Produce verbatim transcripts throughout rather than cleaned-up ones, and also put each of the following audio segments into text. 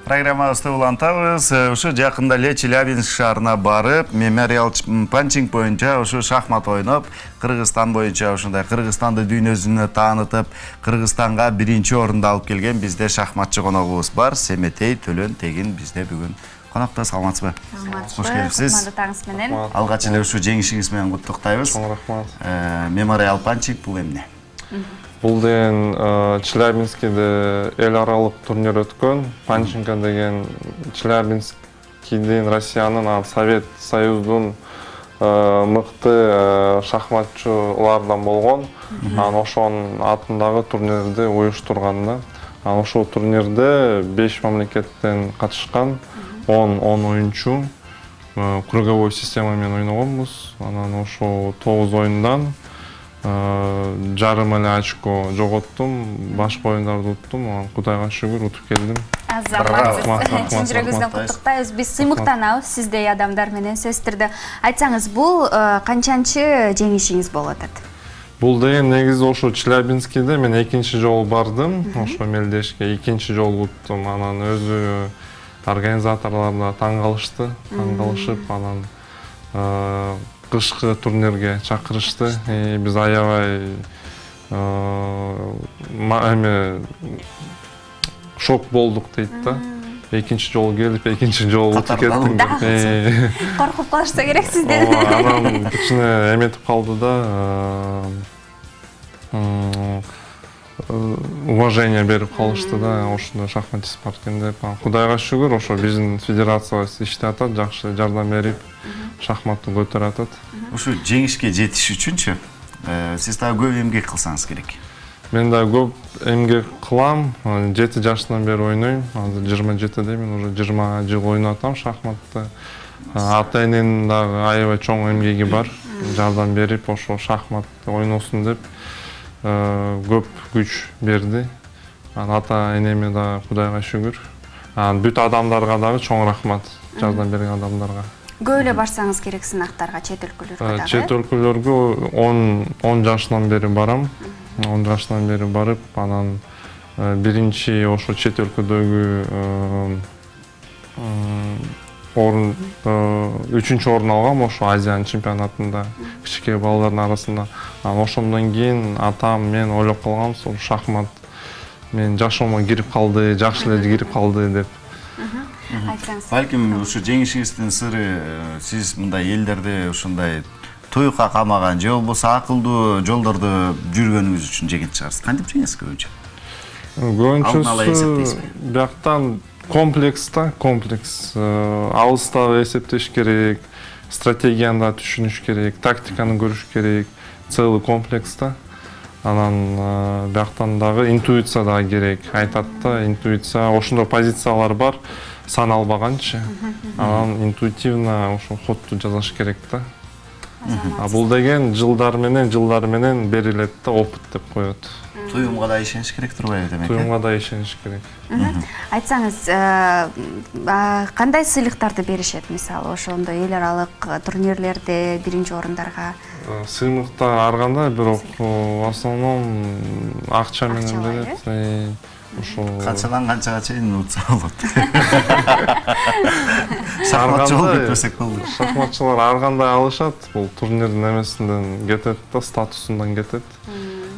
Программабызды улантабыз. Ушу жакында эле Челябинск шаарына барып, мемориал панчинг боюнча ушу шахмат ойноп, Кыргызстан боюнча ушундай Кыргызстанды дүйнөсүнө таанытып, Кыргызстанга биринчи орунду алып келген бизде шахматчы коногубуз бар. Семетей Төлөн Тегин бизде бүгүн конокто. Саламатсызбы? Кош келипсиз. Кутмандуу таңыңыз менен. Алгач эле ушу жеңишиңиз менен куттуктайбыз. Чоң рахмат. Мемориал панчинг бул эмне? Бул деген Челябинскиде эл аралык турнир өткөн. Панчинка деген Челябинскидин Россиянын Совет Союздун мыкты шахматчылардан болгон. Анан ошонун атындагы турнирди уюштурган да. Анан ошол турнирде беш мамлекеттен катышкан он оюнчу круговой система менен ойногонбуз. Анан ошо тогуз оюндан жарым эле очко жоготтум, башка оюндарды уттум. Кудайга шүгүр утуп келдим. Азаматсыз. Чын жүрөгүбүздөн куттуктайбыз. Биз сыймыктанабыз сиздей адамдар менен сөздөрдө. Айтсаңыз, бул канчанчы жеңишиңиз болуп атат? Бул деген негизи ошо Челябинскиде мен экинчи жолу бардым. Ошо мелдешке экинчи жолу уттум. Анан өзү организаторлор да таң калышты, таң калышып, анан кышкы турнирге чакырышты. Биз аябай эме шок болдук дейт да. Экинчи жолу келип, экинчи жолу утуп кеттим деп. Коркуп калышса керек сизден. Анан кичине эметип калды да. Уважение берип калышты да, ошондой шахматчы бар экен деп. Кудайга шүгүр, ошо биздин федерациябыз иштеп атат, жакшы жардам берип, шахматты көтөрүп атат. Ушу жеңишке жетиш үчүнчү сиз дагы көп эмгек кылсаңыз керек. Мен да көп эмгек кылам. жети жаштан бери ойнойм. Азыр жыйырма жетидемин, уже жыйырма жыл ойноп атам шахматты. Ата эненин дагы аябай чоң эмгеги бар. Жардам берип, ошо шахматты ойносун деп көп күч берди. Ата энеме да Кудайга шүгүр. Бүт адамдарга дагы чоң рахмат, жардам берген адамдарга. Көп эле барсаңыз керек сынактарга, чет өлкөлөргө дагы. Чет өлкөлөргө он жаштан бери барам. он жаштан бери барып, анан биринчи ошо чет өлкөдөгү орун үчүнчү орун алгам ошо Азиянын чемпионатында кичике балдардын арасында. Анан ошондон кийин атам мен ойлоп калганбыз, ошо шахмат менин жашоомо кирип калды, жакшы эле кирип калды деп. Айтсаңыз. Балким ушу жеңишиңиздин сыры сиз мындай элдерди ушундай туйукка камаган же болбосо акылдуу жолдордо жүргөнүңүз үчүн жеңет чыгарсыз. Кантип жеңесиз көбүнчө? Көбүнчөсү бияктан комплекс да, комплекс. Алыстабы эсептеш керек, стратегияны да түшүнүш керек, тактиканы көрүш керек, целый комплекс да. Анан бияктан дагы интуиция да керек. Айтат да, интуиция, ошондой позициялар бар, саналбаганчы. Анан интуитивно ошо ходду жасаш керек да. А бул деген жылдар менен, жылдар менен берилет да, опыт деп коет. Туюмга да ишениш керек турбайбы демек? Туюмга да ишениш керек. Айтсаңыз, кандай сыйлыктарды беришет, мисалы, ошондой эл аралык турнирлерде биринчи орундарга? Сыйлыктар ар кандай, бирок в основном акча менен берет. Ошо канчадан канчага чейин утса болот. Шахматчы болуп кетпесек болду. Шахматчылар ар кандай алышат, бул турнирдин эмесинден кетет да, статусундан кетет.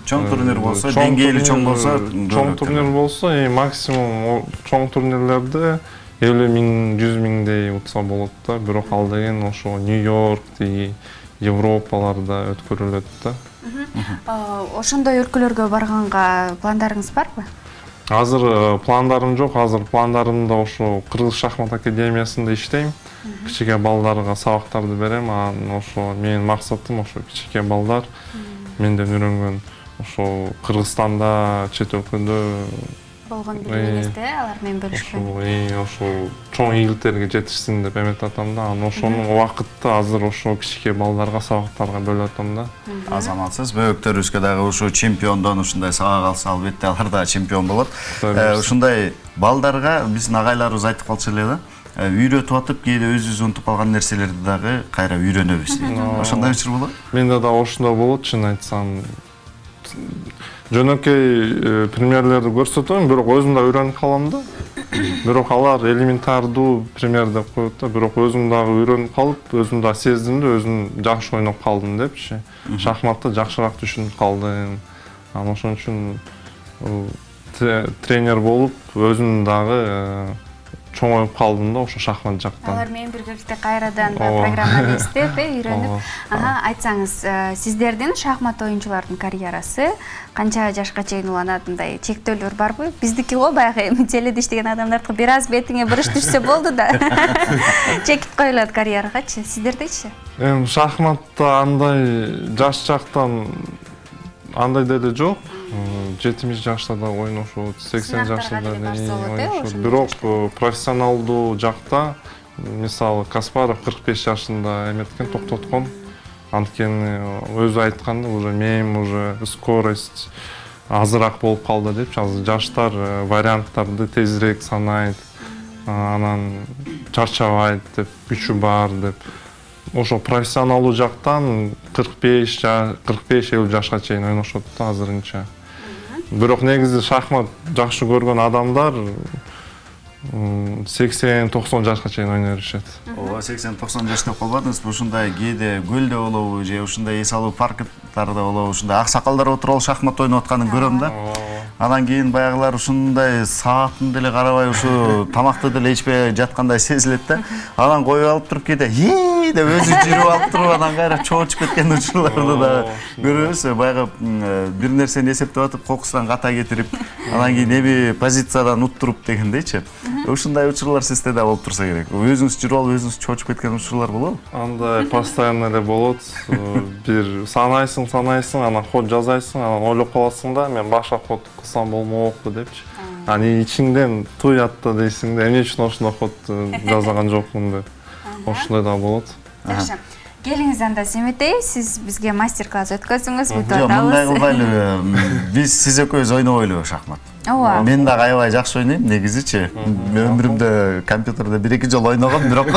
Чоң турнир болсо, деңгээли чоң болсо, чоң турнир болсо, максимум чоң турнирлерде элүү миң, жүз миңдей утса болот да, бирок ал деген ошо Нью-Йорк, Европаларда өткөрүлөт да. Ошондой өлкөлөргө барганга пландарыңыз барбы? Азыр пландарым жок, азыр пландарымда ошо Кыргыз шахмат академиясында иштейм. Кичике балдарга сабактарды берем, анан ошо менин максатым ошо кичике балдар менден үйрөнгөн ошо Кыргызстанда, чет өлкөдө болгон билимиңизди алар менен бөлүшкөн. Ошо чоң ийгиликтерге жетишсин деп эметип атам да. Анан ошонун убакытты азыр ошо кичике балдарга, сабактарга бөлүп атам да. Азаматсыз, бөбөктөрүбүзгө дагы ушул чемпиондон ушундай сабак алса, албетте алар да чемпион болот. Ушундай балдарга биздин агайларыбыз айтып калчу эле да. Үйрөтүп атып, кээде өзүбүз унутуп калган нерселерди дагы кайра үйрөнөбүз. Ошондой учур болот? Менде да ошондой болот, чын айтсам. жөнөкөй примерлерди көрсөтөм, бирок өзүм да үйрөнүп калам да. Бирок алар элементардуу пример деп коет да, бирок өзүм дагы үйрөнүп калып, өзүм да сездим да, өзүм жакшы ойноп калдым депчи. Шахматты жакшыраак түшүнүп калдым. Анан ошон үчүн тренер болуп, өзүм дагы чоңоюп калдым да ошо шахмат жактан. Алар менен биргеликте кайрадан программаны издеп, үйрөнүп. Ага, айтсаңыз, сиздердин шахмат оюнчулардын карьерасы канча жашка чейин уланат, мындай чектөөлөр барбы? Биздики го баягы теледе иштеген адамдардыкы бир аз бетиңе буруш түшсө болду да. Чекип коюлат карьерагачы. Сиздердечи? Эми шахматта андай жаш жактан андай деле жок. жетимиш жашта да ойношот, сексен жашта да ойношот. Бирок профессионалдуу жакта, мисалы Каспаров кырк беш жашында эметкен, токтоткон. Анткени өзү айтканда, уже мен уже скорость азыраак болуп калды депчи. Азыр жаштар варианттарды тезирээк санайт, анан чарчабайт деп, күчү бар деп. Ошо профессионалдуу жактан кырк беш элүү жашка чейин ойношот да азырынча. Бирок негизи шахмат жакшы көргөн адамдар сексен токсон жашка чейин ойной беришет. Ооба, сексен токсон жаш деп калбадыңызбы? Ушундай кээде көлдө болобу же ушундай эс алуу парктарда болобу, ушундай аксакалдар отуруп алып шахмат ойноп атканын көрөм да. Анан кийин баягылар ушундай саатын деле карабай, ушу тамакты деле ичпей жаткандай сезилет да. Анан коюп алып туруп кээде "Хи" деп өзү жүрүп алып туруп, анан кайра чоочуп кеткен учурларды да көрөбүз. Баягы бир нерсени эсептеп атып, кокустан ката кетирип, анан кийин эми позициядан уттуруп дегендейчи. Ушундай учурлар сизде да болуп турса керек. Өзүңүз жүрүп алып, өзүңүз чоочуп кеткен учурлар болобу? Андай постоянно эле болот. Бир санайсың, санайсың, анан ход жазайсың, анан ойлоп каласың да, мен башка ход кылсам болмокпу депчи. Анан ичиңден туят да дейсиң да, эмне үчүн ошондой ход жазган жокмун деп. Ошондой да болот. Жакшы. Келиңиз анда Семетей, сиз бизге мастер-класс өткөзүңүз, бүтүп атабыз. Мындай кылбайлыбы? Биз сиз экөөбүз ойнобойлубу шахмат? Ооба. Мен дагы аябай жакшы ойнойм, негизичи. Өмүрүмдө компьютерде бир эки жолу ойногом, бирок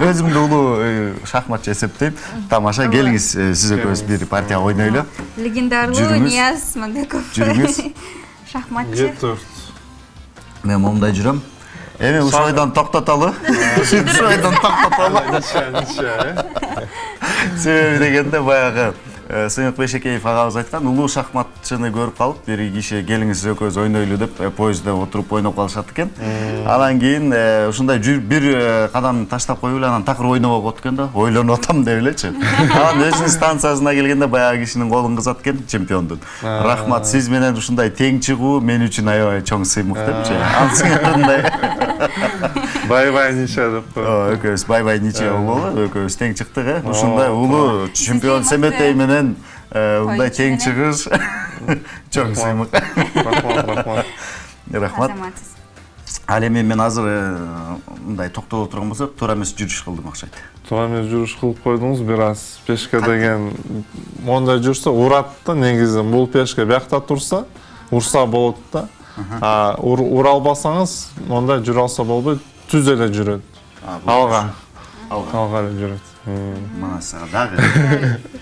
өзүмдү улуу шахматчы эсептейм. Тамаша, келиңиз, сиз экөөбүз бир партия ойнойлу. Легендарлуу Нияз Мамбеков. Жүрүңүз. Шахматчы. Мен момундай жүрөм. Эми ушойдон токтотолу. Ушойдон токтотолу. Себеби дегенде баягы Сыймык Бейшекеев агабыз айткан, улуу шахматчыны көрүп калып, бир киши келиңиз экөөбүз ойнойлу деп поездде отуруп ойноп калышат экен. Анан кийин ушундай бир кадам таштап коюп эле анан такыр ойнобой коет экен да, ойлонуп атам деп элечи. Анан өзүнүн станциясына келгенде баягы кишинин колун кызат экен, чемпиондун. Рахмат, сиз менен ушундай тең чыгуу мен үчүн аябай чоң сыймык депчи. Ансыңарындай. Бай-бай ниче деп коет. Экөөбүз бай-бай ниче болобу? Экөөбүз тең чыктык, э. Ушундай улуу чемпион Семетей менен мындай тең чыгыш чоң сыймык. Рахмат, рахмат. Рахмат. Ал эми мен азыр мындай токтоло турган болсок, туура эмес жүрүш кылдым окшойт. Туура эмес жүрүш кылып койдуңуз, бир аз пешке деген мондай жүрсө урат да, негизи бул пешке биякта турса, урса болот да. А ура албасаңыз, мондай жүрө алса болбойт, түз эле жүрөт. Алга. Алга эле жүрөт. Мана сага дагы.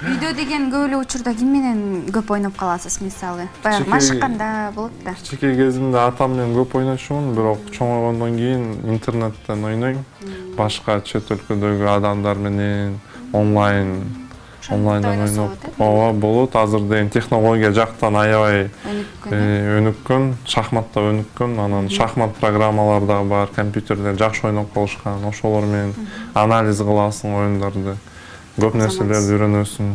Үйдө деген көп эле учурда ким менен көп ойноп каласыз, мисалы? Баягы машыкканда болот да. Кичине кезимде атам менен көп ойночумун, бирок чоңойгондон кийин интернеттен ойнойм. Башка чет өлкөдөгү адамдар менен онлайн онлайндан ойноп. Ооба, болот. Азыр деген технология жактан аябай өнүккөн, шахматта өнүккөн, анан шахмат программалары дагы бар, компьютерде жакшы ойноп калышкан. Ошолор менен анализ кыласың оюндарды. Көп нерселерди үйрөнөсүң.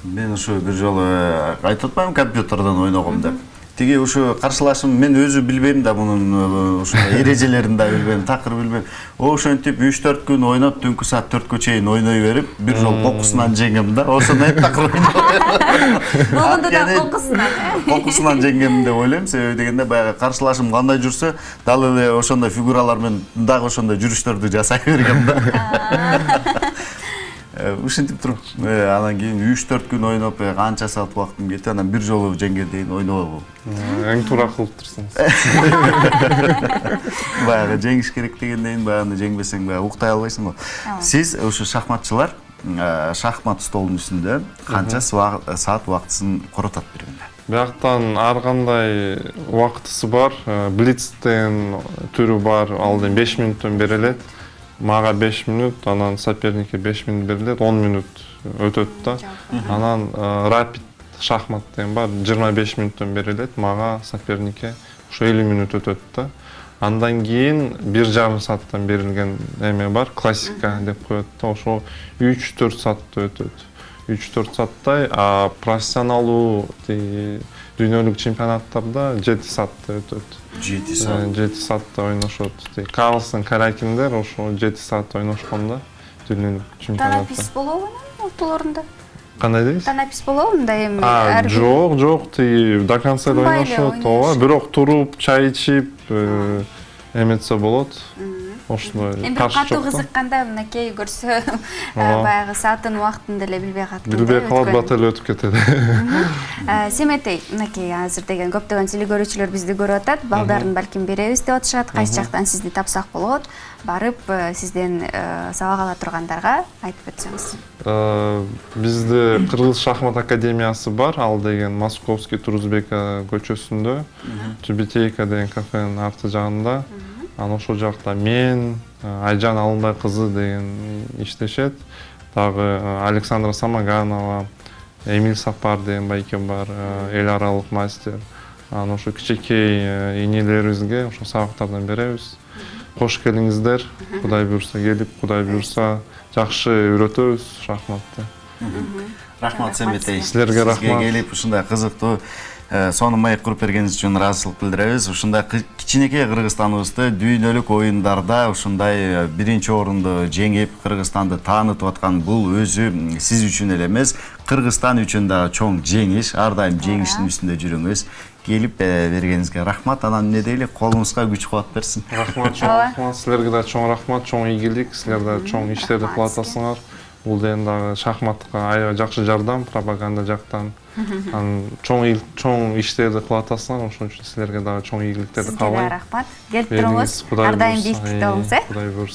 Мен ушу бир жолу айтып атпаймынбы компьютерден ойногом деп. Тиги ушу каршылашым мен өзү билбейм да, мунун ушундай эрежелерин да билбейм, такыр билбейм. Ошентип үч төрт күн ойноп, түнкү саат төрткө чейин ойной берип, бир жол кокусунан жеңем да. Ошондой такыр ойнойм. Болгондо да кокусунан. Кокусунан жеңем деп ойлойм, себеби дегенде баягы каршылашым кандай жүрсө, дал эле ошондой фигуралар менен дагы ошондой жүрүштөрдү жасай бергем да. Ушинтип туруп, анан кийин үч төрт күн ойноп, канча саат убактым кетти, анан бир жолу жеңге дейин ойнобобу. Эң туура кылып турсуңуз. Баягы жеңиш керек дегенден баягы жеңбесең баягы уктай албайсың го. Сиз ушу шахматчылар шахмат столунун үстүндө канча саат убактысын коротот бир күндө? Бияктан ар кандай убактысы бар. Блицтен түрү бар. Ал эми беш мүнөттөн берилет. Мага беш мүнөт, анан соперникке беш мүнөт берилет, он мүнөт өтөт да. Анан рапид шахмат деген бар, жыйырма беш мүнөттөн берилет, мага соперникке ошо элүү мүнөт өтөт да. Андан кийин бир жарым сааттан берилген эме бар, классика деп коет да, ошо үч төрт саатта өтөт. үч төрт сааттай, а профессионалдуу дүйнөлүк чемпионаттарда жети саатта өтөт. жети саат. жети саатта ойношот. Карлсон, Каракиндер ошо жети саат ойношкон да дүйнөлүк чемпионатта. Танапис болобу ортолорунда? Кандай дейсиз? Танапис болобу мындай эми? Жок, жок, тиги до конца ойношот, ооба, бирок туруп, чай ичип эметсе болот. Ошондой эми бир катуу кызыкканда мынакей көрсө баягы сааттын убактын деле билбей калат. Билбей калат, бат эле өтүп кетет. Семетей, мынакей азыр деген көптөгөн телекөрүүчүлөр бизди көрүп атат. Балдарын балким беребиз деп атышат. Кайсы жактан сизди тапсак болот? Барып сизден сабак ала тургандарга айтып өтсөңүз. Бизде Кыргыз шахмат академиясы бар. Ал деген Московский Турузбека көчөсүндө, Тюбетейка деген кафенин арты жагында. Анан ошол жакта мен, Айжан Алынбай кызы деген иштешет. Дагы Александра Самоганова, Эмиль Сапар деген байке бар, эл аралык мастер. Анан ошо кичинекей энелерибизге ошо сабактардан беребиз. Кош келиңиздер, Кудай буйрса келип, Кудай буйрса жакшы үйрөтөбүз шахматты. Рахмат Семетей. Силерге рахмат. Сизге келип ушундай кызыктуу сонун маек куруп бергениңиз үчүн ыраазычылык билдиребиз. Ушундай кичинекей Кыргызстаныбызды дүйнөлүк оюндарда ушундай биринчи орунду жеңип, Кыргызстанды таанытып аткан бул өзү сиз үчүн эле эмес, Кыргызстан үчүн дагы чоң жеңиш. Ар дайым жеңиштин үстүндө жүрүңүз. Келип бергениңизге рахмат. Анан эмне дейли, колуңузга күч кубат берсин. Рахмат, чоң рахмат. Силерге да чоң рахмат, чоң ийгилик. Силер да чоң иштерди кылып атасыңар. Бул деген дагы шахматка аябай жакшы жардам, пропаганда жактан. Анан чоң чоң иштерди кылып атасыңар, ошон үчүн силерге дагы чоң ийгиликтерди каалайм. Сизге рахмат. Келип туруңуз. Ар дайым бийликте болуңуз, э? Кудай буйрса.